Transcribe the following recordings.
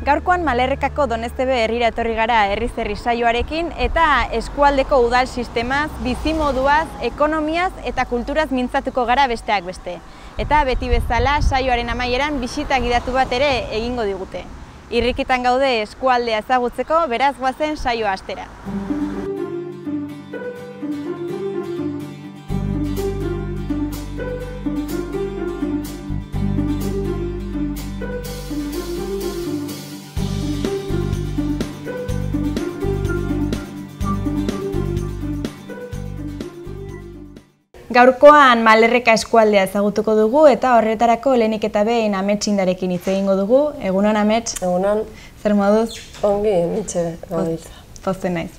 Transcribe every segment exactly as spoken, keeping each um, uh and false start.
Gaurkoan Malerrekako Doneztebe herrira etorri gara herriz herri saioarekin eta eskualdeko udal sistemaz, bizimoduaz, ekonomiaz eta kulturaz mintzatuko gara besteak beste. Eta beti bezala saioaren amaieran bisita gidatu bat ere egingo digute. Irrikitan gaude eskualdea ezagutzeko, beraz goazen saioa hastera. Gaurkoan Malerreka eskualdea ezagutuko dugu eta horretarako lehenik eta behin Amets Indarekin hitz egingo dugu. Egunon, Amets? Egunon. Zer moduz? Ongi, mitxe gabiltza. Pozten naiz.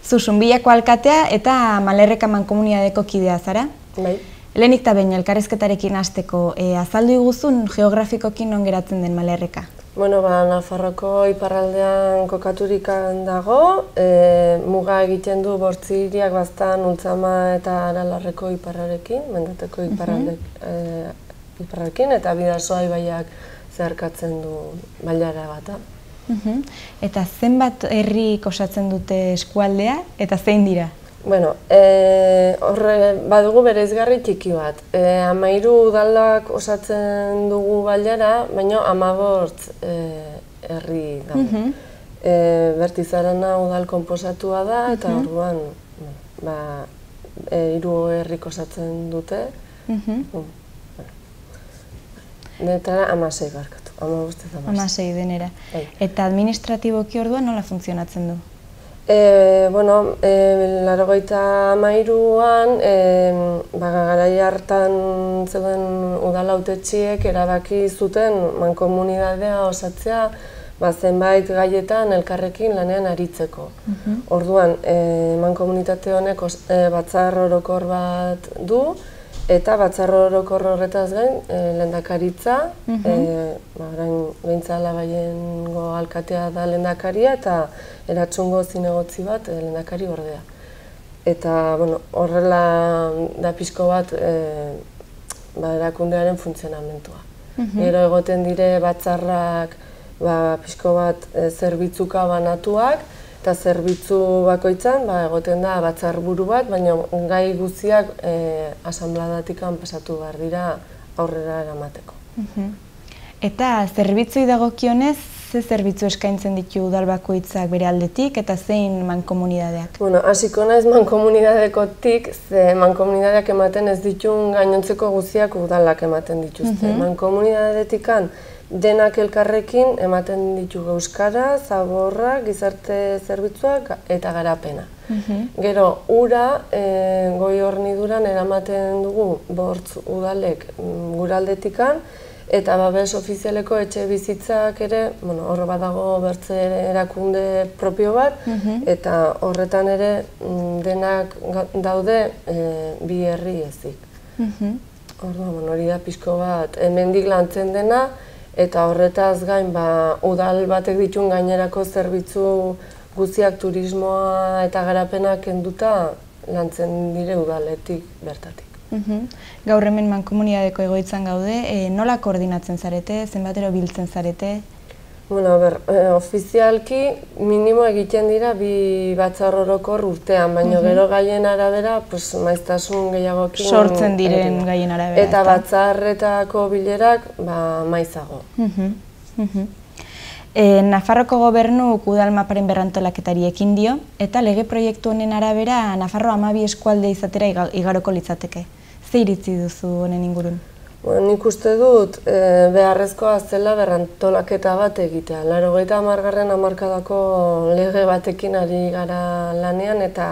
Zu Zunbillako alkatea eta Malerreka mankomunitateko kidea zara? Bai. Lehenik eta behin elkarrizketarekin hasteko, e, azaldu iguzun geografikokin non geratzen den Malerreka? Bueno, ba, Nafarroko iparraldean kokaturikan dago, e, muga egiten du Bortziriak, Baztan, Ultzama eta Aralarreko iparrarekin, Mendateko iparralde, e, iparrarekin, eta Bidasoa ibaiak zeharkatzen du bailara bata. Eta zenbat herrik osatzen dute eskualdea eta zein dira? Bueno, e, horre badugu bereizgarri txiki bat. E, Hamairu udalak osatzen dugu bailara, baina hamabost e, herri daude. E, Bertizarana udal konposatua da eta orduan ba, e, hiru herrik osatzen dute. Denetara hamasei barkatu, hamabost eta hamasei. Hamasei denera. Eta administratiboki orduan nola funtzionatzen du? E, bueno, e, laurogeita hamairuan, e, ba, garai hartan zeuden udal hautetsiek erabaki zuten mankomunitatea osatzea ba, zenbait gaietan elkarrekin lanean aritzeko. Orduan, e, mankomunitate honek os, e, batzar orokor bat du, eta batzar orokor horretaz gain e, lehendakaritza, e, ba, orain behintzala baiengo alkatea da lehendakaria eta eratsungo zinegotzi bat e, lehendakari ordea. Eta bueno, horrela da pixko bat e, ba, erakundearen funtzionamentua. Gero egoten dire batzarrak ba, pixko bat e, zerbitzuka banatuak, eta zerbitzu bakoitzan ba, egoten da batzarburu bat, baina gai guztiak e, asanbladatikan pasatu behar dira aurrera eramateko. Eta zerbitzuei dagokionez, ze zerbitzu eskaintzen ditu udal bakoitzak bere aldetik eta zein mankomunitateak? Bueno, hasiko naiz mankomunitatekotik, ze mankomunitateak ematen ez ditun gainontzeko guztiak udalak ematen dituzte. Mankomunitateetikan denak elkarrekin ematen ditu euskara, zaborra, gizarte zerbitzuak eta garapena. Gero, ura, e, goi horniduran eramaten dugu bortz udalek guraldetikan, eta babes ofizialeko etxe bizitzak ere, bueno, hor badago bertze erakunde propio bat, eta horretan ere denak daude e, bi herri ezik. Orduan, bueno, hori da pixko bat, hemendik lantzen dena, eta horretaz gain, ba, udal batek ditun gainerako zerbitzu guztiak turismoa eta garapenak kenduta lantzen dire udaletik bertatik. Gaur hemen mankomunitateko egoitzan gaude, e, nola koordinatzen zarete, zenbatero biltzen zarete? Bueno, ber, e, ofizialki minimo egiten dira bi batzar orokor urtean, baina gero gaien arabera, pues, maiztasun gehiagokin sortzen diren gaien arabera. Eta batzarretako bilerak ba, maizago. E, Nafarroko gobernuk udal maparen berrantolaketari ekin dio, eta lege proiektu honen arabera Nafarro hamabi eskualde izatera igaroko litzateke. Ze iritzi duzu honen ingurun? Bueno, nik uste dut e, beharrezkoa zela berrantolaketa bat egitea. Laurogeita hamargarren hamarkadako lege batekin ari gara lanean eta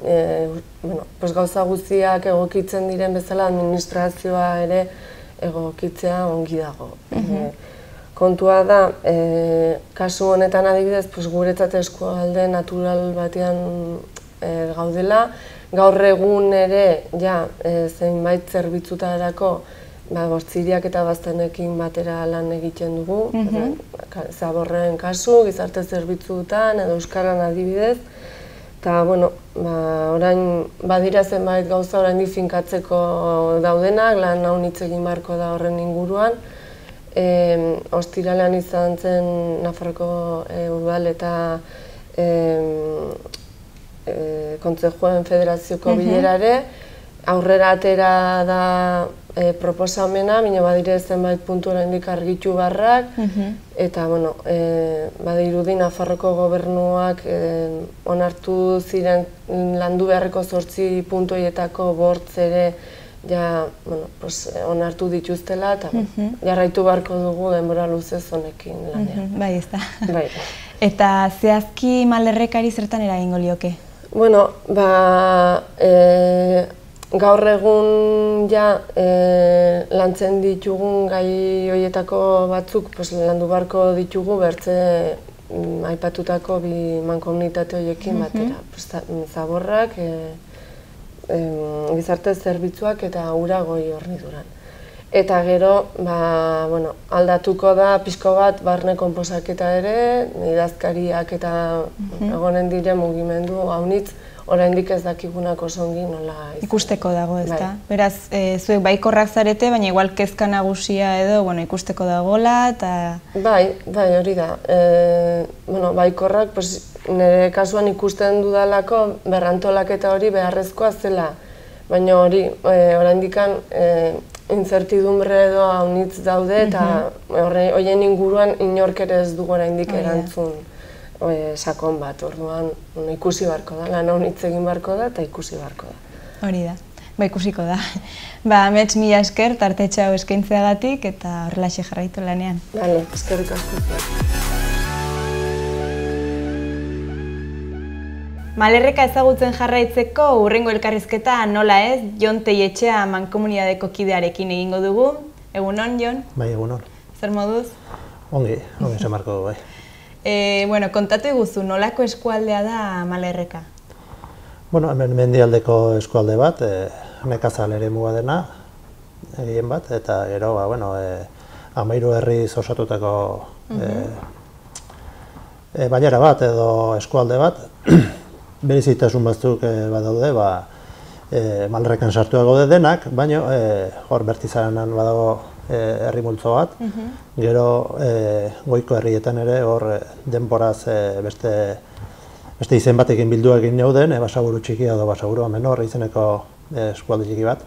e, bueno, pues gauza guztiak egokitzen diren bezala administrazioa ere egokitzea ongi dago. E, kontua da, e, kasu honetan adibidez, pues, guretzat eskualde natural batean e, gaudela, gaur egun ere ja, e, zenbait zerbitzutarako ba, Bortziriak eta Baztanekin batera lan egiten dugu, zaborren kasu, gizarte zerbitzuetan edo euskaran adibidez. Eta, bueno, ba, orain badira zenbait gauza oraindik finkatzeko daudenak, lan hau hitz egin beharko da horren inguruan. E, ostiralean izan zen Nafarroko e, udal eta e, e, Kontsejuen Federazioko bilerare, aurrera atera da e, proposamena, baina badire zenbait puntu oraindik argitu barrak, eta bueno, e, badirudi Nafarroko gobernuak e, onartu ziren landu beharreko zortzi puntu horietako bortz ere ja, bueno, pues, onartu dituztela, eta uh -huh. jarraitu beharko dugu denbora luzez honekin lanean. Uh -huh. Bai, ez da. Bai. Eta zehazki Mallerrekari zertan eragingo lioke? Bueno, ba, e, gaur egun ja e, lantzen ditugun gai horietako batzuk pues, landu beharko ditugu bertze mm, aipatutako bi mankomunitate horiekin uh -huh. batera. Pues, zaborrak, e, gizarte zerbitzuak eta ura goi horniduran. Eta gero, ba, bueno, aldatuko da pixko bat barne konposaketa ere, idazkariak eta uh-huh. egonen dire mugimendu haunitz, oraindik ez dakigunak oso ongi nola izan. Ikusteko dago, ez da? Bai. Beraz, e, zuek baikorrak zarete, baina igual kezka nagusia edo, bueno, ikusteko dagoela, eta... Bai, bai, hori da. E, bueno, baikorrak, pues, nire kasuan ikusten dudalako berrantolaketa hori beharrezkoa zela, baina hori, e, oraindikan e, incertidumbre edo haunitz daude, eta horien inguruan inork ere ez dugu oraindik erantzun e, sakon bat, orduan ikusi beharko da, lan haunitz egin beharko da eta ikusi beharko da. Hori da, ba ikusiko da. Ba, amets mila esker, tartetxe hau eskaintzeagatik eta horrelaxe jarraitu lanean. Bale, eskerrik asko. Mallerreka ezagutzen jarraitzeko hurrengo elkarrizketa nola ez, Jon Teietxea mankomunidadeko kidearekin egingo dugu. Egunon, Jon? Bai, egunon. Zer moduz? Ongi, ongi zemarko du, bai. E, bueno, kontatu iguzu, nolako eskualdea da Mallerreka? Bueno, hemen mendialdeko eskualde bat, e, nekazal ere muga dena, egin bat, eta gero, ba, bueno, e, hamairu herriz osatutako e, e, bainera bat edo eskualde bat, berezitasun batzuk e, badaude, ba, e, Mallerrekan sartuak gaude denak, baina e, hor bertizaranan badago e, herri multzo bat, gero e, goiko herrietan ere hor e, denboraz e, beste, beste izen batekin bildu egin neuden, e, basaburu txikia edo basaburu menor izeneko e, eskualde txiki bat,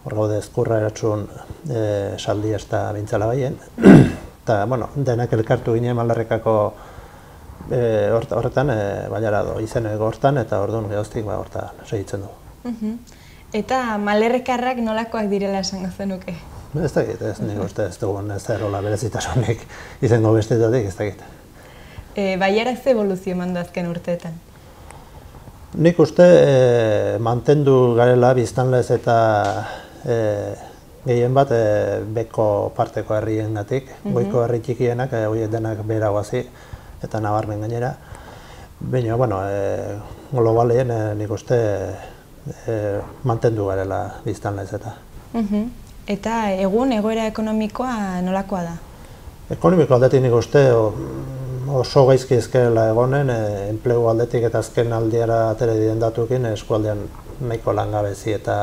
hor gaude ezkurra eratxun e, saldi ez da bintzala baien, eta bueno, denak elkartu ginen Mallerrekako E, horretan, e, bainara do, izeneko hortan eta orduan gehoztik ba, hortan segitzen du. Uh-huh. Eta Mallerrekarrak nolakoak direla esango zenuke? Ez dakit, ez nik uste ez dugun ez errola berezitasunik izango bestetatik, ez dakit. E, Baiara ze evoluzio eman du azken urteetan? Nik uste e, mantendu garela biztanlez eta e, gehien bat e, beko parteko herriengatik, uh-huh. goiko herri txikienak, e, horiek denak beheragoazi, eta nabarmen gainera. Baina, bueno, e, globalien e, nik uste e, mantendu garela biztanlez eta. Uh-huh. Eta egun egoera ekonomikoa nolakoa da? Ekonomiko aldetik nik uste oso gaizki ezkerela egonen, e, enplegu aldetik eta azken aldiara atere diren datukin eskualdean nahiko langabezi eta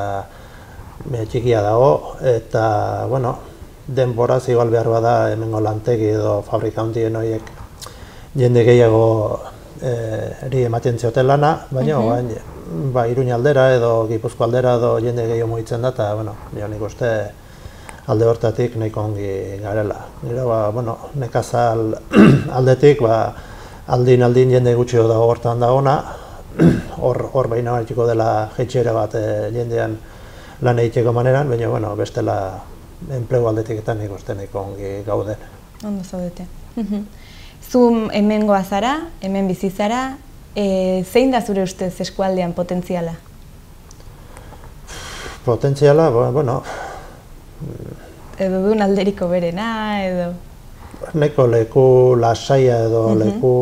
e, txikia dago, eta, bueno, denboraz igual behar bada hemengo lantegi edo fabrika handien horiek jende gehiago eri ematen zioten lana, baina ba, Iruña aldera edo Gipuzko aldera edo jende gehiago mugitzen da, eta bueno, nik uste alde hortatik nahiko ongi garela. Gero, ba, bueno, nekazal aldetik, ba, aldin aldin jende gutxi dago hortan dagona, hor hor behin abartiko dela jetxera bat jendean lan egiteko maneran, baina bueno, bestela enplegu aldetik eta nik uste nahiko ongi gauden. Ondo zaudete. Zu hemengoa zara, hemen bizi zara, e, zein da zure ustez eskualdean potentziala? Potentziala, bueno... Edo duen alderiko berena, edo... Neko leku lasaia edo uh-huh. leku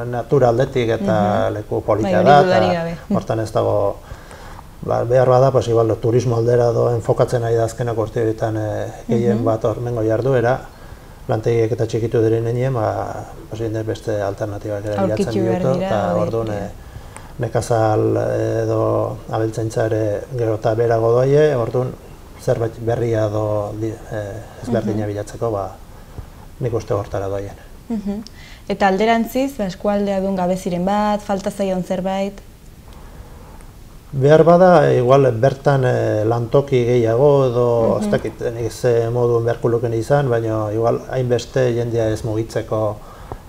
natura aldetik eta uh-huh. leku polita da, eta hortan ez dago ba, behar bada, pues, igual, turismo aldera edo enfokatzen ari da azkenak urte horietan e, gehien uh-huh. bat hormengo jarduera, lantegiek eta txikitu diren nenien, ba, beste alternatibak ere bilatzen diotu, eta orduan nekazal edo abeltzaintza ere gero eta berago doie, orduan zerbait berria edo ezberdina bilatzeko, ba, nik uste hortara doaien. Eta alderantziz, eskualdea duen gabeziren bat, falta zaion zerbait? Behar bada, igual bertan lantoki gehiago edo ez dakit ze moduen beharko luken izan, baina igual hainbeste jendea ez mugitzeko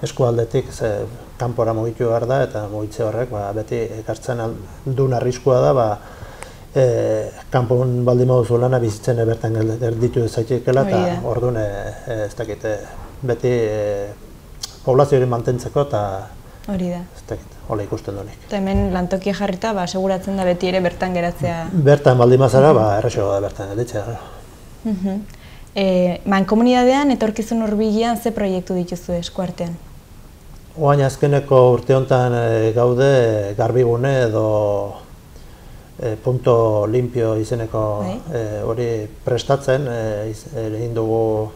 eskualdetik, ze kanpora mugitu behar da, eta mugitze horrek beti ekartzen duen arriskua da, kanpon baldin moduzu lana bizitzen bertan gelditu zaitekela, eta orduan ez dakit beti poblazio hori mantentzeko eta hori da. Ez dakit, hola ikusten duenik. Eta hemen lantokia jarrita, aseguratzen da beti ere bertan geratzea. Bertan baldin mazara, erresago da bertan gelditzea. Mankomunidadean, etorkizun hurbilean, ze proiektu dituzu eskuartean? Oain azkeneko urte honetan gaude garbigune edo punto limpio izeneko hori prestatzen, egin dugu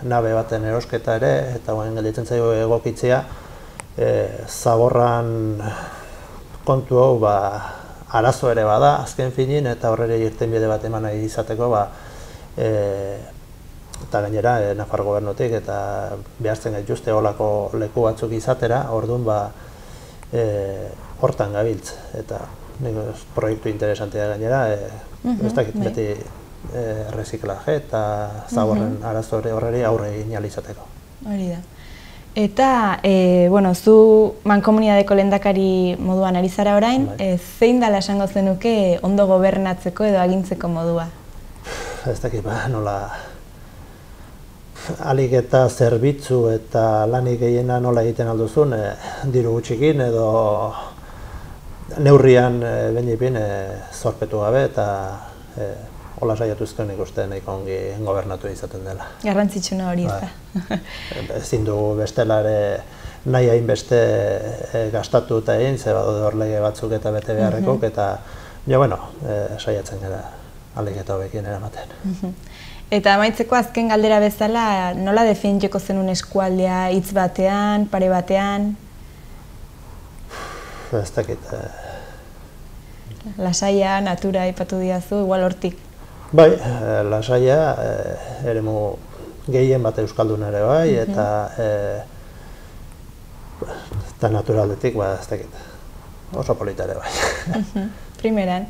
nabe baten erosketa ere, eta oain gelditzen zaio egokitzea, zaborran kontu hau arazo ere bada, azken finin, eta horre irtenbide bat eman nahi izateko, eta gainera, Nafar gobernutik, eta behartzen gaituzte olako leku batzuk izatera, orduan hortan gabiltz, eta proiektu interesantea gainera, ez dakit beti erreziklaje eta zaborren arazo horreri aurre egin ahal izateko. Hori da. Eta, zu mankomunidadeko lehendakari moduan ari zara orain, zein dela esango zenuke ondo gobernatzeko edo agintzeko modua? Ez dakit, nola alik eta zerbitzu eta lanik gehiena nola egiten alduzun, diru gutxikin edo neurrian benipin zorpetu gabe eta hola saiatuzken ikusten nahiko ongi gobernatu izaten dela. Garrantzitsuna hori ez da. Ezin dugu bestelare nahi hainbeste gastatu eta egin, ze badaude hor lege batzuk eta bete beharrekok, eta bueno, saiatzen gara ahalik eta hobekin eramaten. Eta amaitzeko azken galdera bezala, nola definituko zenun eskualdea hitz batean, pare batean? Ez dakit. Lasaia, natura aipatu diazu, igual hortik. Bai, lasaia, eremu gehien bat euskaldun ere bai, eta naturaldetik, ez dakit, oso polita ere bai. Primeran.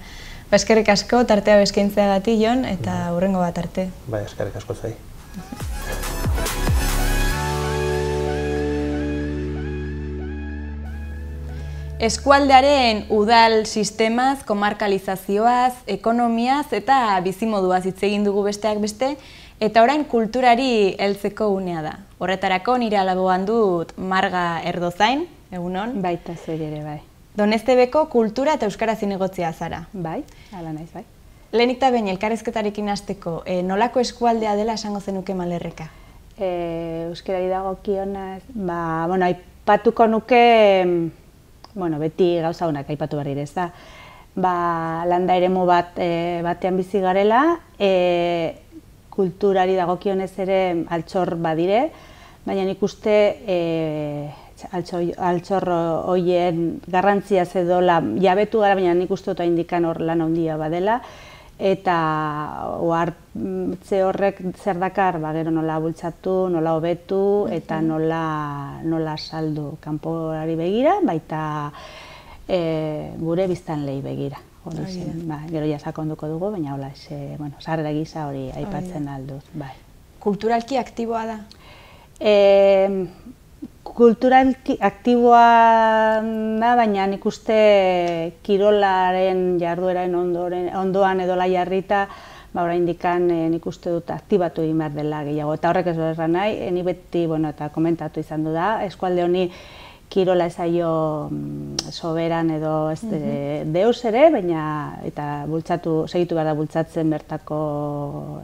Eskerrik asko, tartea eskaintzeagatik, Jon, eta hurrengo bat arte. Bai, eskerrik asko zai. Eskualdearen udal sistemaz, komarkalizazioaz, ekonomiaz eta bizimoduaz hitz egin dugu besteak beste, eta orain kulturari heltzeko unea da. Horretarako nire alaboan dut Marga Erdozain, egunon? Baita zer ere, bai. Donestebeko kultura eta euskara zinegotzia zara. Bai, ala naiz, bai. Lehenik eta behin elkarrezketarekin hasteko, nolako eskualdea dela esango zenuke Malerreka? Euskarari dagokionaz, ba, bueno, aipatuko nuke, bueno, beti gauza honak aipatu berri ez da, ba, landa eremu bat batean bizi garela, kulturari dagokionez ere altxor badire, baina nik uste altxor horien garrantzia zedola jabetu gara, baina nik uste dut indikan hor lan handia badela, eta ohartze horrek zer dakar, ba, gero nola bultzatu, nola hobetu, eta nola saldu kanporari begira, baita gure biztanleei begira. Gero ja sakonduko dugu, baina hola, sarrera gisa hori aipatzen alduz. Kulturalki aktiboa da? Kulturalki aktiboa da, baina nik uste kirolaren jardueraren ondoan edo lai jarrita, oraindik nik uste dut aktibatu egin behar dela gehiago. Eta horrek ez du erran nahi, ni beti eta komentatu izan du da, eskualde honi kirola ezaio soberan edo deus ere, baina eta bultzatu, segitu behar da bultzatzen bertako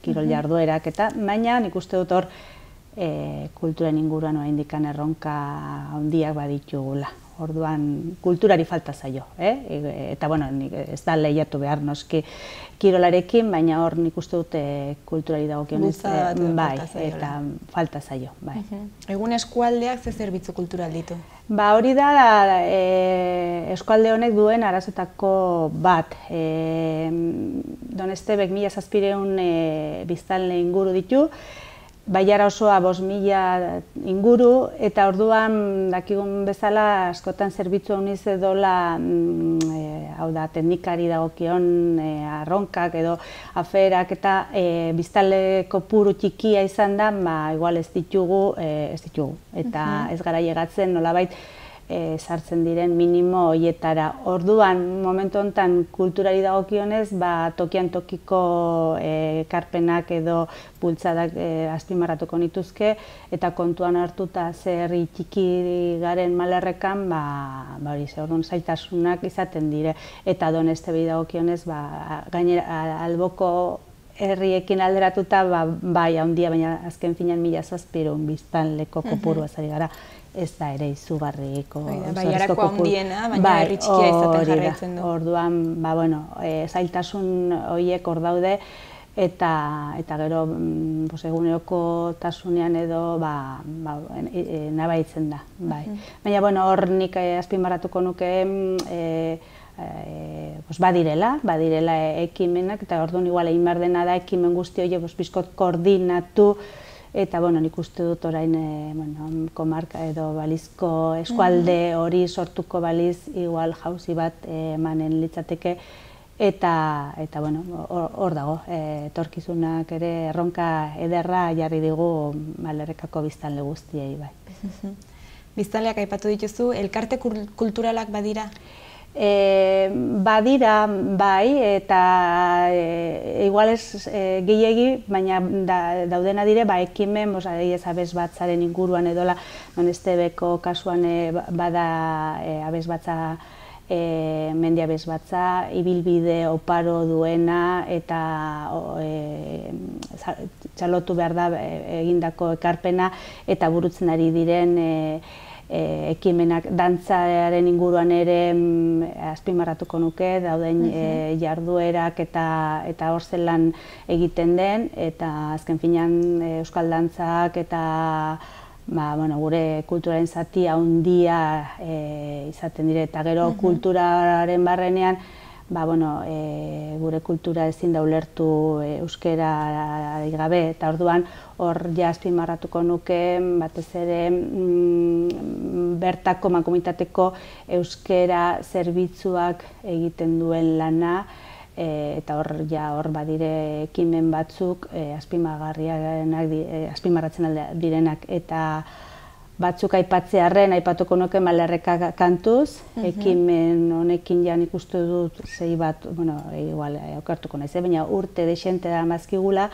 kirol jarduerak eta, baina nik uste dut hor kulturen inguruan oraindikan erronka handiak baditugula. Orduan, kulturari falta zaio, eta ez da lehiatu behar noski kirolarekin, baina hor nik uste dut kulturari dagokionez, bai, eta falta zaio, bai. Egun eskualdeak ze zerbitzu kultural ditu? Ba, hori da eskualde honek duen arazoetako bat. Donestebek mila zazpireun biztanle inguru ditu, Baiara osoa bost mila inguru, eta orduan dakigun bezala askotan zerbitzu honiz edola, hau da, teknikari dagokion arronkak edo aferak eta biztanle kopuru txikia izan da, ba, igual ez ditugu, ez ditugu, eta ez gara llegatzen nolabait sartzen diren minimo horietara. Orduan, momentu honetan kulturari dagokionez, tokian tokiko ekarpenak edo bultzadak azpimarratuko nituzke, eta kontuan hartuta zer herri txiki garen Malerrekan, hori ze, orduan zailtasunak izaten dire. Eta Donestebei dagokionez, gainera alboko herriekin alderatuta, bai, handia, baina azken finean mila zazpireun biztanleko kopuru ezari gara. Ez da ere izugarriko. Baiarako handiena, baina herri txikia izaten jarraitzen du. Orduan, zailtasun horiek hor daude, eta gero eguneroko tasunean edo nabaitzen da. Baina hor nik azpimarratuko nuke badirela, badirela ekimenak, eta orduan igual egin behar dena da ekimen guzti horiek bizkot koordinatu, eta nik uste dut orain komarka edo balizko eskualde hori sortuko baliz igual jauzi bat emanen litzateke, eta hor dago, etorkizunak ere erronka ederra jarri digu Malerrekako biztanle guztiei. Biztanleak aipatu dituzu, elkarte kulturalak badira? Badira, bai, eta igual ez gehiegi, baina daudena dire, ekimen, abesbatzaren inguruan edola, Donestebeko kasuan bada abesbatza, mendi abesbatza, ibilbide oparo duena, eta txalotu behar da egindako ekarpena, eta burutzen ari diren ekimenak dantzaren inguruan ere azpimarratuko nuke, dauden jarduerak eta hor zelan egiten den, eta azken finean euskal dantzak eta gure kulturaren zati handia izaten dire, eta gero kulturaren barrenean gure kultura ezin da ulertu euskera gabe, eta orduan hor ja azpimarratuko nuke batez ere bertako mankomunitateko euskera zerbitzuak egiten duen lana, eta hor ja hor badire ekimen batzuk azpimarratzen direnak, eta batzuk aipatzearren, aipatuko nuke Malerreka kantuz, ekimen honekin jan ikustu dut zei bat, bueno, igual okertuko naiz, baina urte dexente da mazkigula,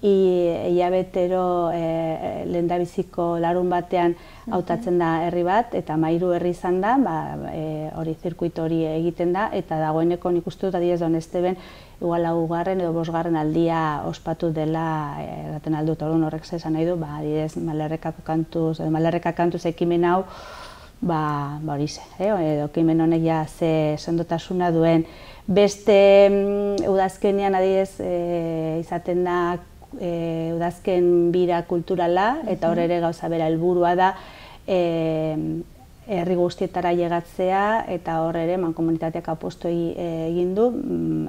hilabetero lehendabiziko larun batean hautatzen da herri bat, eta Mairu herri izan da, hori zirkuito hori egiten da, eta dagoeneko nik uste dut adibidez Donesteben igual laugarren edo bosgarren aldia ospatu dela eraten aldut, orduan horrek esan nahi du, adibidez Malerrekako kantuz, edo Malerreka kantuz ekimen hau, hori ze, edo ekimen honek ja ze sendotasuna duen. Beste udazkenean adibidez izaten da udazken bira kulturala, eta hor ere gauza bera helburua da herri guztietara llegatzea, eta hor ere mankomunitateak apostu egin du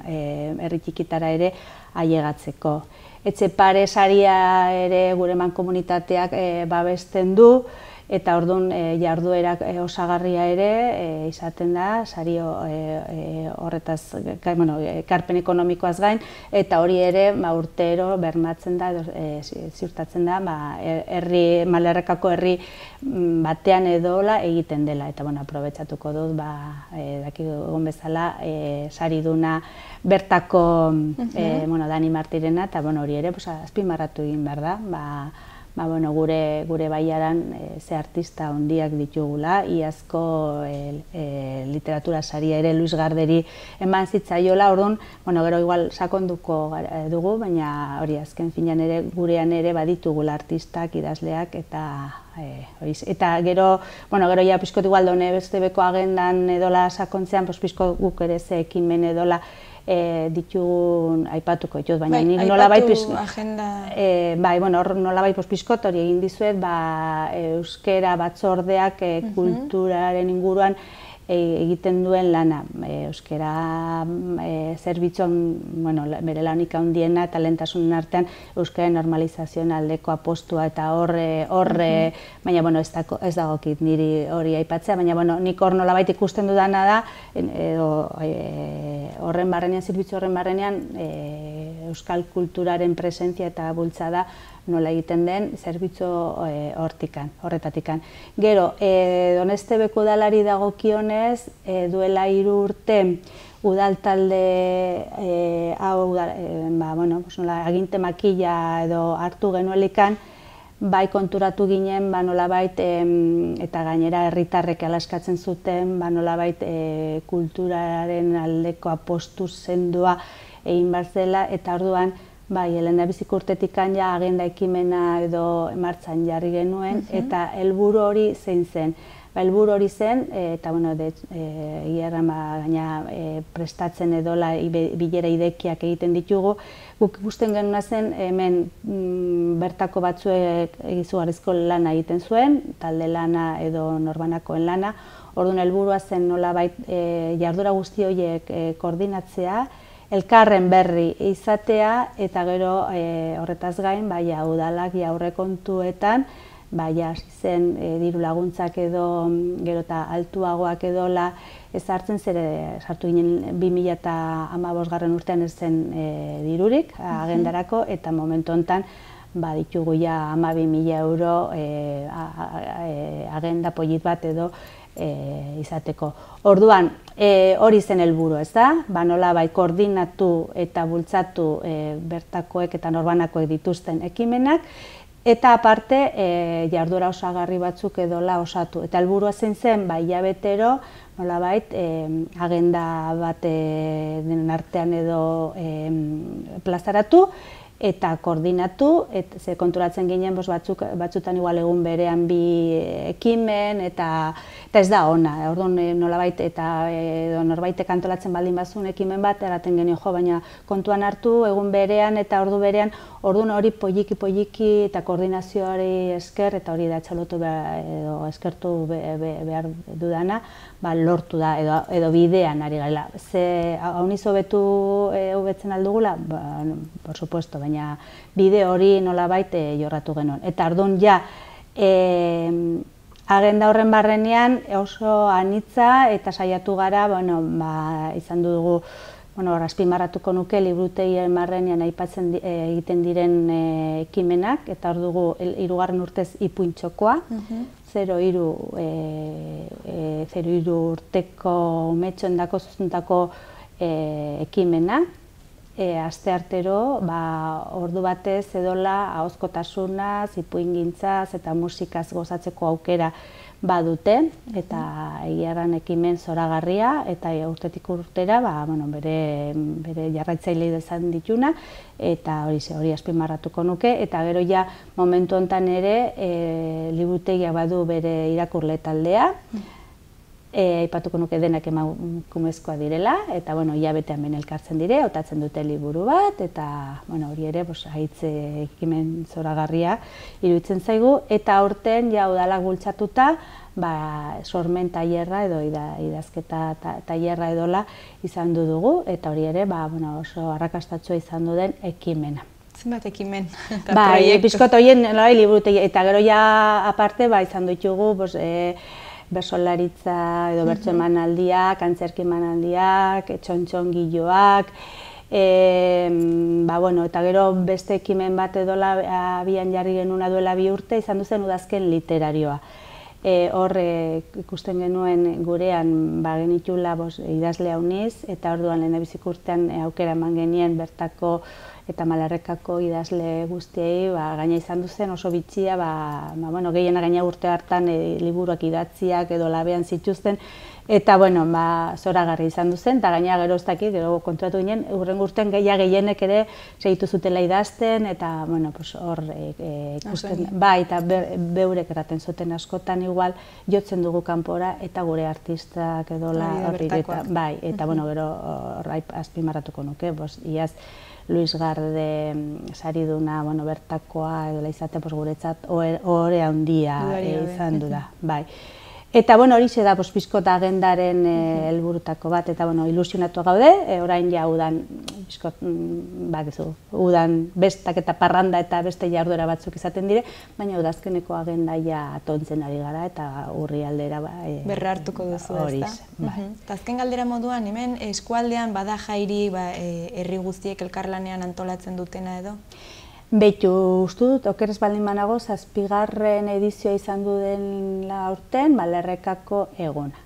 herri txikitara ere ailegatzeko. Etxepare saria ere gure mankomunitateak babesten du, eta orduan jarduerak osagarria ere izaten da, sari horretaz, ekarpen ekonomikoaz gain, eta hori ere urtero bermatzen da, ziurtatzen da, Malerrekako herri batean edola egiten dela, eta aprobetxatuko dut, dakigun bezala, sari duna bertako Dani Martirena, eta hori ere azpimarratu egin behar da, ba, bueno, gure, gure baiaran e, ze artista handiak ditugula, iazko e, e, literatura saria ere Luis Garderi eman zitzaiola, orduan, bueno, gero igual sakonduko dugu, baina hori azken finean ere gurean ere baditugula artistak, idazleak eta e, hori, eta gero, bueno, gero ja pizkot igual done beste beko agendan edola sakontzean, pues pizko guk ere ze ekimen edola E, ditugun aipatuko ditut, baina nik nolabait pizkot agenda... E, bai, bueno, hor nolabait pizkot hori egin dizuet, ba, euskera batzordeak e, kulturaren inguruan e, egiten duen lana. E, euskera e, zerbitzuan, bueno, bere lanik handiena eta lehentasunen artean euskara normalizazioen aldeko apostua eta horre, horre, baina, bueno, ez, dako, ez dagokit niri hori aipatzea, baina, bueno, nik hor nolabait ikusten dudana da, edo, e, horren barrenean, zerbitzu horren barrenean, e, euskal kulturaren presentzia eta bultzada nola egiten den zerbitzu e, hortikan, horretatikan. Gero, e, Donestebeko udalari dagokionez, e, duela hiru urte udal talde e, hau, e, ba, bueno, nola, aginte makila edo hartu genuelikan, bai konturatu ginen, ba nolabait, eta gainera herritarrek alaskatzen zuten, ba nolabait e, kulturaren aldeko apostu sendoa egin behar zela, eta orduan, bai, lehendabizik urtetik ja agenda ekimena edo martxan jarri genuen, eta helburu hori zein zen. Ba, helburu hori zen, eta, bueno, egia gaina prestatzen edola bilera idekiak egiten ditugu, guk ikusten genuna zen, hemen bertako batzuek izugarrizko lana egiten zuen, talde lana edo norbanakoen lana, orduan helburua zen nolabait jardura guzti horiek koordinatzea, elkarren berri izatea, eta gero horretaz gain, baina udalak aurrekontuetan, baina zen diru laguntzak edo gero eta altuagoak edola ezartzen, zere sartu ginen bi mila hamabosgarren urtean ez zen dirurik agendarako, eta momentu honetan ditugu ja hamabi mila euro agenda polit bat edo izateko. Orduan, hori zen helburu, ez da? Ba nola bai koordinatu eta bultzatu bertakoek eta norbanakoek dituzten ekimenak, eta aparte jarduera osagarri batzuk edola osatu. Eta helburua zein zen, ba hilabetero, nolabait agenda bat den artean edo plazaratu, eta koordinatu, ze konturatzen ginen batzutan igual egun berean bi ekimen, eta ez da ona. Orduan nolabait eta norbaitek antolatzen baldin bazun ekimen bat, eraten genio jo, baina kontuan hartu egun berean eta ordu berean, orduan hori poliki-poliki eta koordinazioari esker, eta hori da txalotu edo eskertu behar dudana, lortu da edo bidean ari garela. Ze hauniz hobetu hobetzen aldugula? Por supuesto, baina bide hori nolabait jorratu genuen. Eta orduan ja, agenda horren barrenean oso anitza eta saiatu gara, izan dugu, azpimarratuko nuke liburutegien barrenean aipatzen egiten diren ekimenak, eta hor dugu hirugarren urtez ipuintxokoa, zero hiru urteko umetxoendako zuzuntako ekimena, asteartero ordu batez edola ahozkotasunaz, ipuingintzaz eta musikaz gozatzeko aukera badute, eta egiarran ekimen zoragarria, eta urtetik urtera bere jarraitzaile izan dituna, eta hori azpimarratuko nuke, eta gero ja momentu honetan ere liburutegiak badu bere irakurle taldea, aipatuko nuke denak emakumezkoa direla, eta hilabetean behin elkartzen dire, hautatzen dute liburu bat, eta hori ere haitze ekimen zoragarria iruditzen zaigu, eta aurten ja udalak bultzatuta sormen tailerra edo idazketa tailerra edola izan du dugu, eta hori ere oso arrakastatsua izan du den ekimena. Zenbat ekimen eta proiektu? Bai, pixkot horien liburutegi, eta gero ja aparte izan ditugu bersolaritza edo bertso emanaldiak, antzerki emanaldiak, txontxongiloak, eta gero beste ekimen bat edola abian jarri genuna duela bi urte izan duzen udazken literarioa. Hor ikusten genuen gurean genitula idazle hauniz, eta orduan lehendabizik urtean aukera eman genien bertako eta Malerrekako idazle guztiei ba, gaina izan duzen oso bitxia, ba, ba, bueno, gehiena gaina urte hartan e, liburuak idatziak edo labean zituzten, eta bueno, ba, zoragarri izan duzen, eta gaina gero ez dakit, gero kontratu ginen, urren urtean gehiago gehienek ere segitu zutela idazten, eta bueno, pues, hor e, e, ikusten, bai, eta be, beurek eraten zuten askotan igual, jotzen dugu kanpora, eta gure artistak edo la, horri, eta, bai, eta bueno, gero hor azpimarratuko nuke, bos, iaz, Luis Garde sariduna, bueno, bertakoa edo izate, pues, guretzat ohore handia e, izan du da, bai. Eta, bueno, hori da, pues, pizkot agendaren helburutako bat, eta, bueno, ilusionatu gaude, e, orain ja udan, pizkot, bakizu, udan bestak eta parranda eta beste jarduera batzuk izaten dire, baina udazkeneko agenda ja atontzen ari gara, eta urri aldera, ba, e, berra hartuko duzu, ez da? Bai. Azken galdera moduan, hemen eskualdean bada jairi, ba, e, herri guztiek elkarlanean antolatzen dutena edo? Beitu, uste dut, okerez baldin banago, zazpigarren edizioa izan du den aurten, Malerrekako eguna.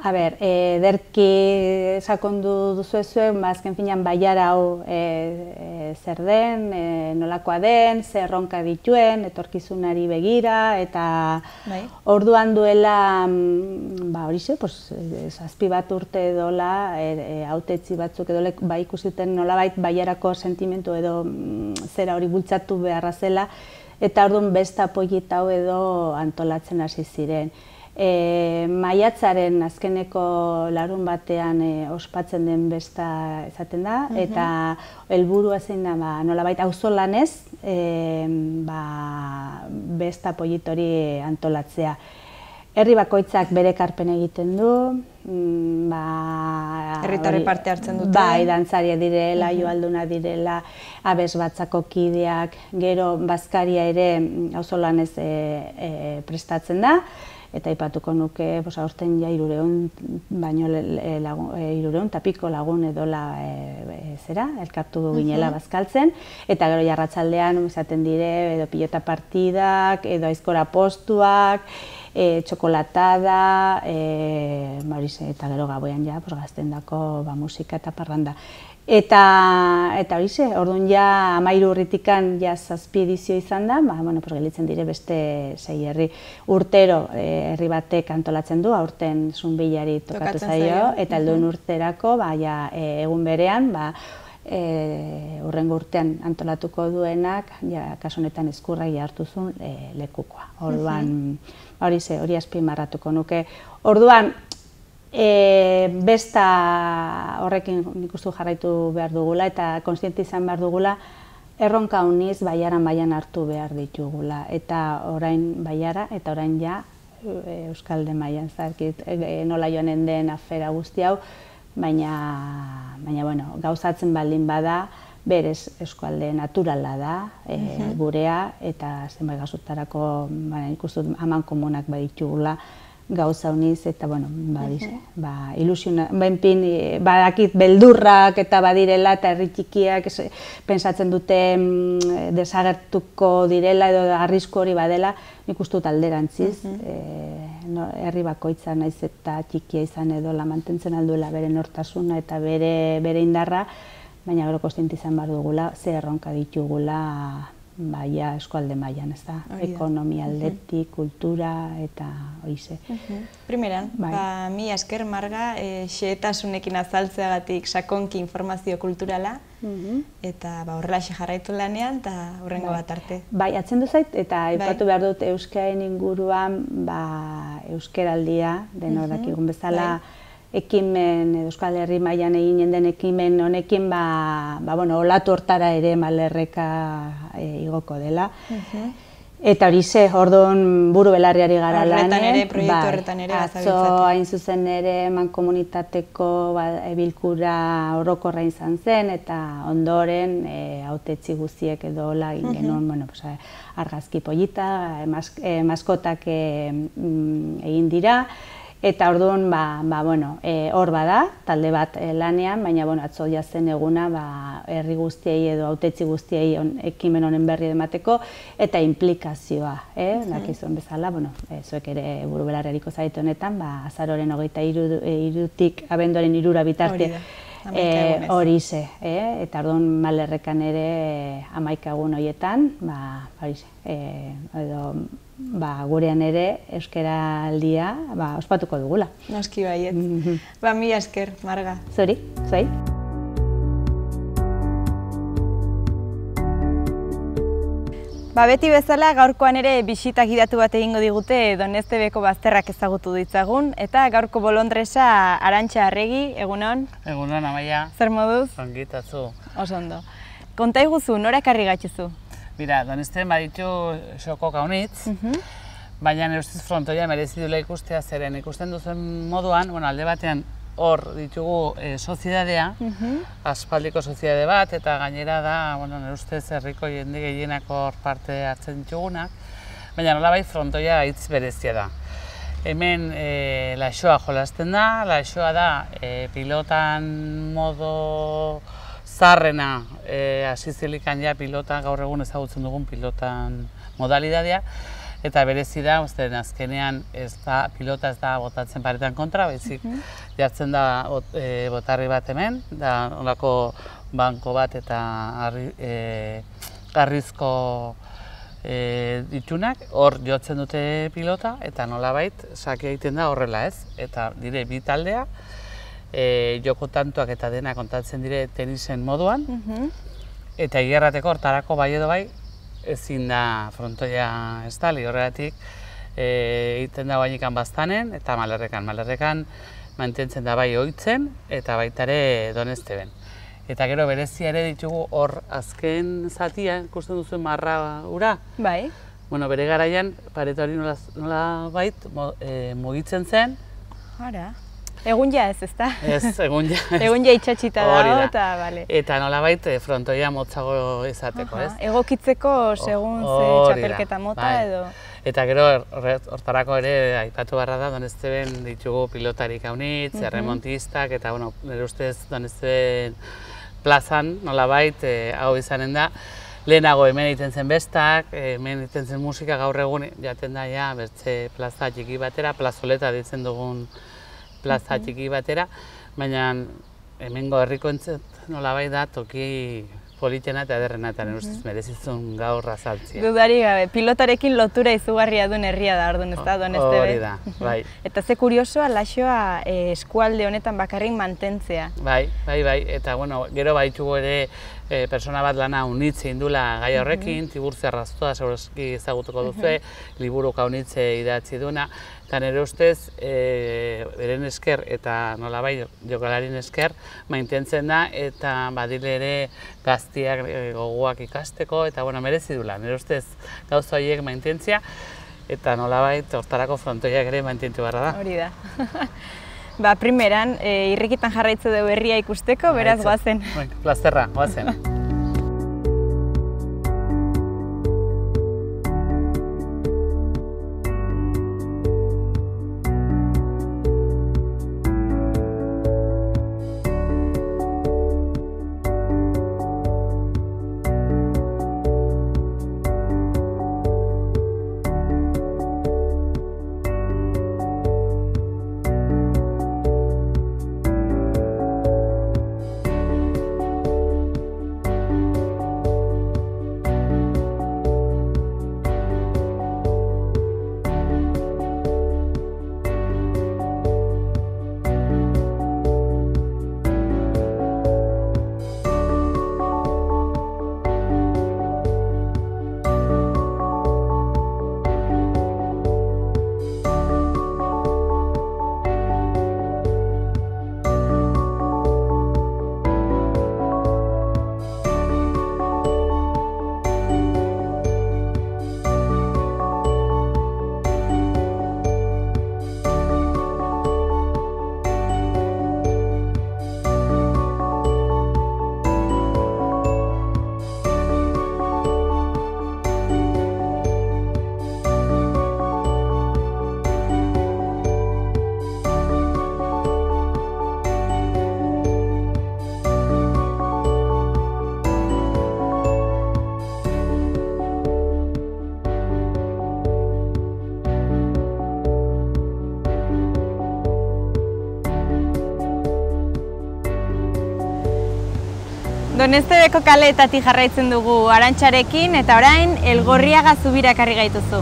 A ber, ederki sakondu duzu ezuen, azken finean baiara hau zer den, nolakoa den, zer erronka dituen, etorkizunari begira, eta orduan duela, ba hori ze, zazpi bat urte edola, hautetzi batzuk edo ba ikusiten nolabait baiarako sentimentu edo zera hori bultzatu beharra zela, eta orduan besta apoieta hau edo antolatzen hasi ziren. E, maiatzaren azkeneko larun batean e, ospatzen den besta izaten da, uh-huh. eta helburua zein da, ba, nolabait auzolanez e, ba, besta pollitori antolatzea. Herri bakoitzak bere ekarpen egiten du, ba, herritarrek parte hartzen dute. Bai, dantzaria direla, uh-huh. joalduna direla, abes batzako kideak, gero bazkaria ere auzolanez e, e, prestatzen da. Eta aipatuko nuke, aurten ja hirureun baino hirureun tapiko lagun edola zera, elkartu ginela bazkaltzen, eta gero jarratsaldean izaten dire edo pilota partidak, edo aizkora postuak, txokolatada, eta gero gauean ja gaztendako musika eta parranda. Eta hori ze, orduan ja hamairu urritikan ja zazpi edizio izan da, gelitzen dire beste sei herri. Urtero herri batek antolatzen du, aurten Zunbillari tokatu zaio, eta helduen urterako egun berean, hurrengo urtean antolatuko duenak, kasu honetan Ezkurragi hartu zuen lekukoa. Orduan, hori ze, hori azpimarratuko nuke. Orduan, E, besta horrekin nik uste jarraitu behar dugula eta kontziente izan behar dugula erronka honiz baiaran baian hartu behar ditugula eta orain baiara eta orain ja Euskalde mailan zarkit e, nola joanen den afera guzti hau, baina, baina bueno, gauzatzen baldin bada berez eskualde naturala da e, uh-huh. gurea eta zenbait gauzutarako ba, ikustu aman komunak baditugula gauza honiz, eta, bueno, ba, ilusiona, benpin, badakit beldurrak eta badirela, eta herri txikiak pensatzen dute desagertuko direla edo arrisku hori badela, nik uste dut alderantziz, herri bakoitza naiz eta txikia izan edo la mantentzen alduela bere nortasuna eta bere indarra, baina gero kontziente izan behar dugula, ze erronka ditugula baia eskualde mailan, ez da, ekonomia aldetik, kultura eta horize. Primeran, mi esker Marga, xehetasunekin azaltzeagatik sakonki informazio kulturala, eta horrelaxe jarraitu lanean, eta hurrengo bat arte. Bai, atzendu zait, eta aipatu behar dut euskaren inguruan euskeraldia, denorak egun bezala, ekimen, Euskal Herri mailan eginen den ekimen honekin, olatu hortara ere Malerreka igoko dela. Eta hori ze, orduan buru belarriari gara lanen. Horretan ere, proiektu horretan ere bazabiltzate. Atzo hain zuzen ere mankomunitateko bilkura orokorra izan zen, eta ondoren hautetsi guztiek edo hola egin genuen, argazki pollita, maskotak egin dira. Eta orduan, hor bada, talde bat lanean, baina atzo jazen eguna herri guztiei edo hautetsi guztiei ekimen honen berri emateko, eta implikazioa, dakizuen bezala, zuek ere burubelarreriko zaite honetan, azaroren hogeita hirutik abenduaren hirura bitarte hamaika egunez. Hori ze, eta orduan Malerrekan ere hamaika egun horietan, hori ze, edo gurean ere euskaraldia ospatuko dugula. Noski baiet. Ba, mila esker, Marga. Zuri, zuei. Ba, beti bezala gaurkoan ere bisita gidatu bat egingo digute Doneztebeko bazterrak ezagutu ditzagun, eta gaurko bolondresa Arantxa Arregi, egunon? Egunon, Amaia. Zer moduz? Ongitatzu. Oso ondo. Konta iguzu, nora ekarri gaitzuzu? Bira, Donezten baditu xoko kaunitz, baina nire ustez frontoia merezi duela ikustea zeren ikusten duzen moduan, bueno, alde batean hor ditugu soziedadea, aspaldiko soziedade bat, eta gainera da, bueno, nire ustez herriko jende gehienako hor parte hartzen ditugunak, baina nolabait frontoia hitz berezia da. Hemen laixoa jolasten da, laixoa da pilotan modo zarrena hasi zilikan ja pilota, gaur egun ezagutzen dugun pilotan modalidadea, eta berezi da, usten azkenean pilota ez da botatzen paretan kontra, baizik jartzen da botarri bat hemen, da nolako banko bat eta garrizko ditunak, hor jotzen dute pilota, eta nolabait sake egiten da horrela ez, eta dire bi taldea, joko tantoak eta dena kontatzen dire tenisen moduan, eta egiarrateko hortarako bai edo bai, ezin da frontoia estali, horregatik egiten da bainikan baztanen eta Malerrekan. Malerrekan mantentzen da bai ohitzen eta baita ere Donezteben. Eta gero berezia ere ditugu hor azken zatia, ikusten duzuen marra ura. Bai. Bueno, bere garaian pareta hori nola bait mugitzen zen. Ara. Egun ja ez, ezta? Ez, egun ja ez. Egun ja itxatxita dago, eta bale. Eta nolabait frontoia motzago izateko, ez? Egokitzeko segun ze txapelketa mota edo... Eta gero hortarako ere aipatu barra da, Donezteben ditugu pilotarik haunitz, erremontistak, eta nire ustez Donezteben plazan nolabait hau izanen da. Lehenago hemen egiten zen bestak, hemen egiten zen musika, gaur egun jaten da ja bertze plaza txiki batera, plazoleta ditzen dugun plaza txiki batera, baina hemengo herriko entzat nolabait da toki politena eta ederrena eta nire ustez merezizun gaur azaltzia. Dudari gabe, pilotarekin lotura izugarria duen herria da, orduan ez da, Doneztebe. Hori da, bai. Eta ze kuriosoa, laixoa eskualde honetan bakarrik mantentzea. Bai, bai, bai, eta bueno, gero baitugu ere persona bat lana unitze indula gai horrekin, Tiburtzia Arrastoa, segurazki ezagutuko duzue, liburu kaunitze idatzi duna, eta nire ustez, beren esker eta nolabait jokalarien esker mantentzen da, eta badile ere gaztiak gogoak ikasteko, eta bueno, merezi dula, nire ustez gauza horiek mantentzia, eta nolabait hortarako frontoiak ere mantentu barra da. Hori da. Ba, primeran, irrikitan jarraitzu dugu herria ikusteko, beraz goazen. Plazterra, goazen. Donestebeko kaleetatik jarraitzen dugu Arantxarekin eta orain Elgorriaga zubira ekarri gaituzu.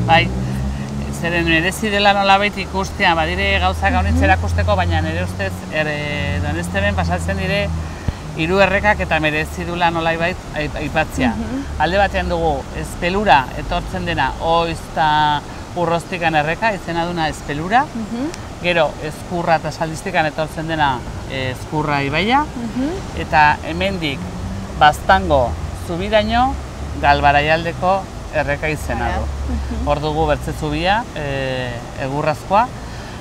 Bai, zeren merezi dela nolabait ikustea, badire gauzak gaunitzera ikusteko, baina nire ustez Donesteben pasatzen dire hiru errekak eta merezi dula nolabait aipatzea. Alde batean dugu Espelura etortzen dena oiz eta urroztikan erreka, izena duna Espelura. Gero Ezkurra eta Saldistikan etortzen dena Ezkurra ibaia. Eta hemendik Baztango zubiraino Galbaraialdeko erreka izena du. Hor dugu Bertze zubia, egurrazkoa,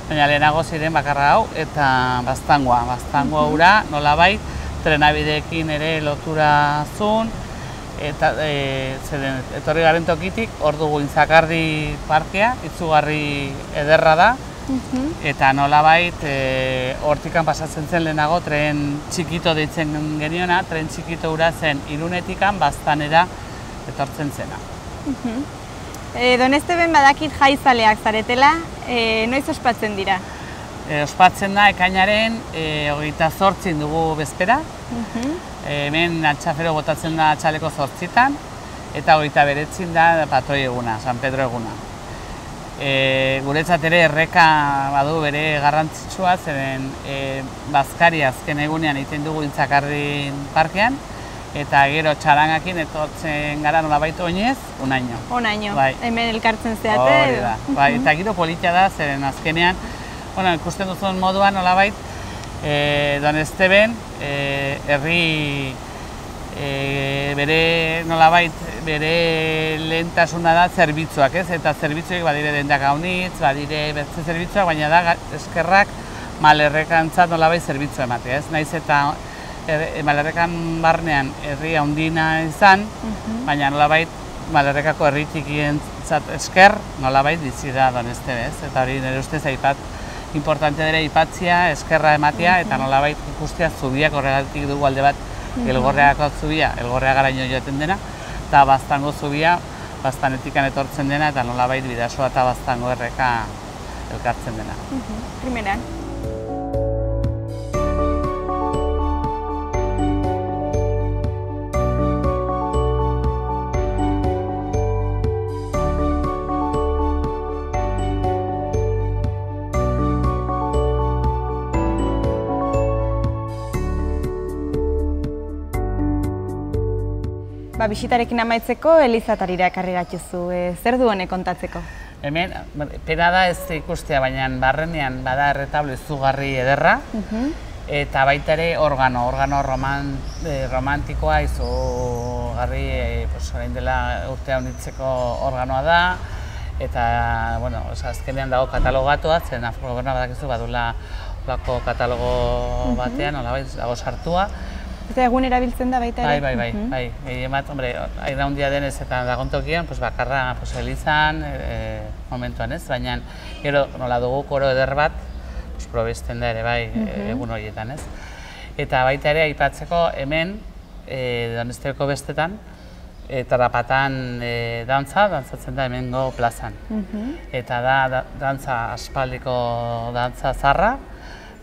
baina lehenago ziren bakarra hau eta Baztangoa. Baztangoa hura nolabait trenabideekin ere lotura zuen, eta etorri garen tokitik hor dugu Intzakardi parkea, itzugarri ederra da, eta nolabait hortikan pasatzen zen lehenago tren txikito deitzen geniona, tren txikito hura zen Irunetikan Baztanera etortzen zena. Donesteben badakit jaizaleak zaretela, noiz ospatzen dira? Ospatzen da ekainaren hogeita zortzin dugu bezpera. Hemen altxafero botatzen da txaleko zortzitan, eta hogeita beretzin da patroi eguna, San Pedro eguna. Guretzat ere erreka badu bere garrantzitsua, zeren Bazkari azken egunean egiten dugu Intzakardi parkean, eta gero txarangakin etortzen gara nolabait oinez, unaino. Unaino, hemen elkartzen zeate. Hori da, eta giro politia da, zeren azkenean, ikusten duzuen moduan nolabait, Donesteben herri bere nolabait bere lehentasuna da zerbitzuak, ez? Eta zerbitzuek badire dendak gaunitz, badire bertze zerbitzuak, baina da eskerrak Malerrekantzat nolabait zerbitzua ematea, ez? Naiz eta Malerrekan barnean herri handina izan, baina nolabait Malerrekako herri txikientzat esker nolabait bizi da Donestebe, ez? Eta hori nire ustez aipat importante dira aipatzea, eskerra ematea, eta nolabait ikustea zubiak horregatik dugu alde bat Elgorriagako zubia, Elgorriagaraino joaten dena, eta Baztango zubia, Baztanetikan etortzen dena, eta nolabait Bidasoa eta Baztango erreka elkartzen dena. Primeran. Bisitarekin amaitzeko Elizatarira ekarri gatuzu, zer du honek kontatzeko? Hemen, pena da ez ikustea, baina barrenean bada erretablo izugarri ederra, eta baita ere organo, organo romantikoa izugarri, orain dela urtea unitzeko organoa da, eta azkenean dago katalogatua, zen Afrogobernoa badakizu badula katalogo batean, dago sartua. Eta egun erabiltzen da baita ere? Bai, bai, bai. Gehien bat, hombre, aira hundia denez eta dagontokian, bakarra elizan, momentuan ez, baina gero nola dugu koro eder bat, probesten da ere bai egun horietan ez. Eta baita ere aipatzeko hemen, Donestebeko bestetan, Tarapatan dantza, dantzatzen da hemengo plazan. Eta da dantza aspaldiko dantza zarra,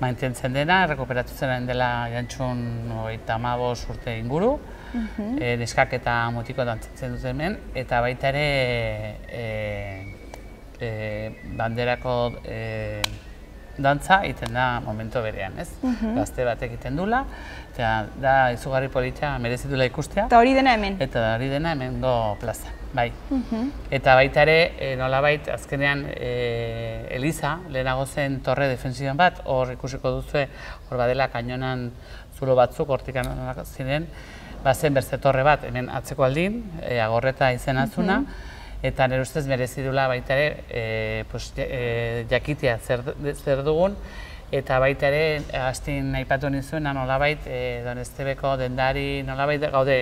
mantentzen dena, errekuperatu zen dela jantxun hogeita hamabost urte inguru, neskak eta mutiko dantzatzen dut hemen, eta baita ere banderako dantza egiten da momento berean, ez? Gazte batek egiten dula, eta da izugarri politia merezitula ikustea. Eta hori dena hemen? Eta hori dena hemengo plaza, bai. Eta baita ere, nolabait, azkenean Eliza, lehenago zen torre defensiban bat, hor ikusiko duzue, hor badela kainonan zulo batzuk, hortik ziren, bazen berze torre bat, hemen atzeko aldin, Agorreta izenatzuna, eta nire ustez merezi dula baita ere jakitea zer dugun, eta baita ere, hastin aipatu nizuen, nolabait Donestebeko dendari, nolabait gaude,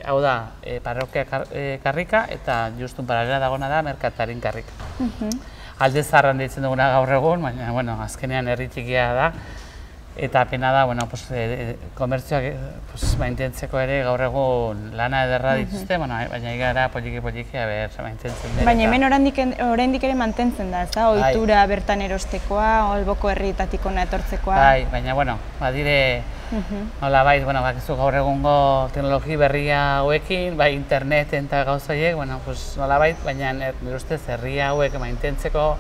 hau da, parrokia karrika, eta justun paralela dagona da, merkatarin karrika. Alde zaharran deitzen duguna gaur egun, baina, bueno, azkenean herri txikia da, Eta pena da, bueno, pues, e, komertzioak pues, maintentzeko ere gaur egun lana ederra dituzte, bueno, baina gara poliki-poliki, a ber, maintentzen dira. Baina hemen oraindik ere mantentzen da, ez da? Ohitura bertan erostekoa, alboko herrietatik hona etortzekoa. Bai, baina, bueno, badire, nolabait, bueno, bakizu gaur egungo teknologi berria hauekin, bai interneten eta gauzoiek, bueno, pues, nolabait, baina nire ustez herria hauek maintentzeko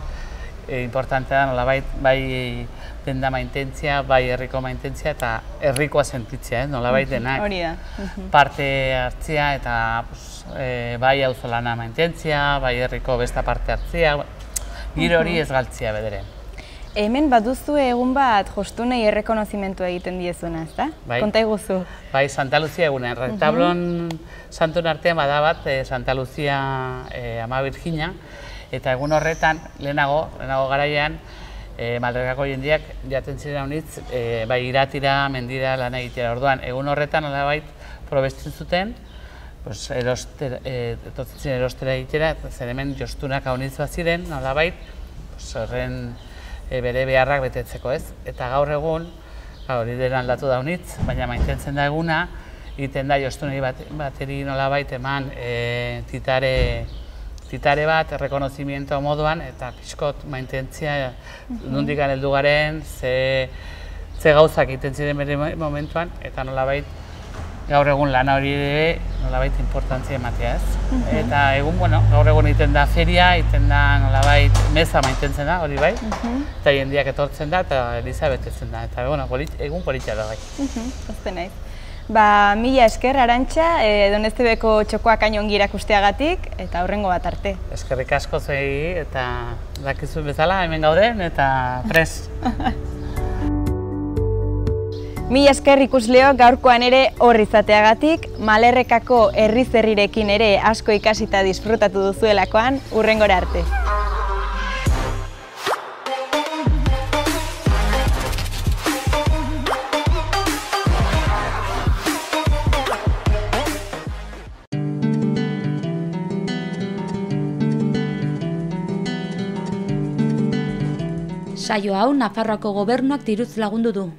importantea da, nolabait, bai denda maintentzia, bai herriko maintentzia eta herrikoa sentitzea, nolabait denak parte hartzea eta bai auzolana maintentzia, bai herriko besta parte hartzea, giro hori ez galtzea bederen. Hemen baduzu egun bat jostunei errekonozimendua egiten diezuna, ez da? Konta iguzu. Bai, Santa Lucia egunen. Retablon santuen artean bada bat Santa Lucia Ama Virginia, eta egun horretan, lehenago, lehenago garaian, Maldergako jendeak jaten ziren honitz, bai iratira, mendira, lan egitera. Orduan, egun horretan, nolabait, probestin zuten, etortzen ziren erostera egitera, zer hemen jostunak honitz bat ziren, nolabait, horren bere beharrak betetzeko, ez? Eta gaur egun, hori dela aldatu da honitz, baina maintentzen da eguna, egiten da jostunei bateri nolabait eman titare Titare bat, errekonozimiento moduan, eta pixkot maintentzia nondik heldu garen, ze gauzak egiten ziren bere momentuan, eta nolabait gaur egun lana hori ere nolabait importantzia ematea, ez? Eta egun, bueno, gaur egun egiten da feria, egiten da nolabait meza maintentzen da, hori bai, eta jendeak etortzen da, eta eliza betetzen da, eta egun politia da bai. Pozten naiz. Ba, mila esker, Arantxa, Doneztebeko txokoak hain ongi irakusteagatik, eta hurrengo bat arte. Eskerrik asko zuei, eta dakizuen bezala, hemen gauden, eta prest. Mila esker ikusleo gaurkoan ere hor izateagatik, Malerrekako herriz herrirekin ere asko ikasita disfrutatu duzuelakoan, hurrengora arte. Saio hau Nafarroako Gobernuak diruz lagundu du.